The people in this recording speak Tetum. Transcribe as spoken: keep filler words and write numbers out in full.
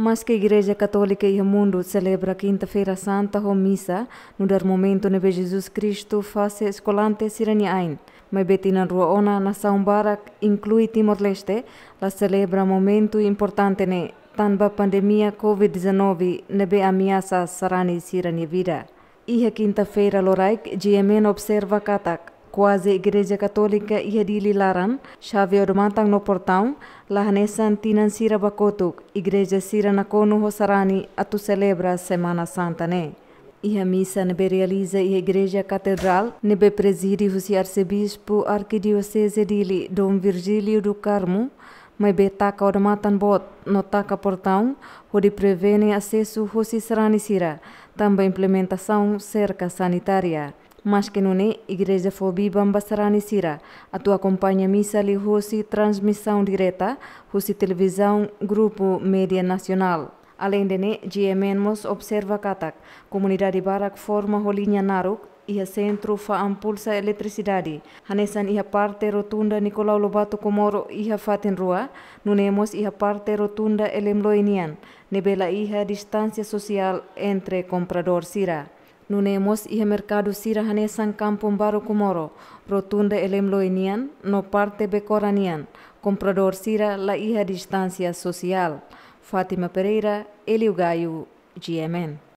Maske Igreja Katólika iha mundu selebra Kinta-feira Santa ho misa, nu'udar momentu ne'ebé Jesus Kristu fase eskolante sira-nia ain, maibé tinan rua ona nasaun barak, inklui Timor-Leste, la selebra momentu importante ne'e tanba pandemia COVID-19 ne'ebé ameasa sarani sira-nia vida. Iha Kinta-feira loraik, GMN observa katak kuaze Igreja Katólika iha Dili laran, xave odamatan no portaun, la hanesan tinan sira ba kotuk, igreja sira nakonu ho sarani atu selebra Semana Santa ne'e. Iha misa ne'ebé realiza iha Igreja Katedrál, ne'ebé prezide husi Arsebispu Arkidioseze Dili, Dom Virgílio do Carmo, maibé taka odamatan boot no taka portaun, hodi prevene asesu hosi sarani sira, tanba implementasaun serka sanitária. Maske nune'e, igreja fó biban ba sarani sira atu akompaña misa liuhosi transmisaun direta husi televizaun Grupu Média Nasionál. Aleinde ne'e, GMN mós observa katak komunidade barak forma ho liña naruk iha sentru fa'an pulsa eletrisidade, hanesan iha parte rotunda Nicolau Lobato Comoro iha fatin rua, nune'e mós iha parte rotunda Elem Loi nian, ne'ebé la iha distánsia sosiál entre kompradór sira. Nune'e mós iha merkadu sira hanesan Kampung Baru Comoro, rotunda Elem Loi nian, no parte Becora nian, kompradór sira la iha distánsia sosiál. Fátima Pereira, Elio Gaio, GMN.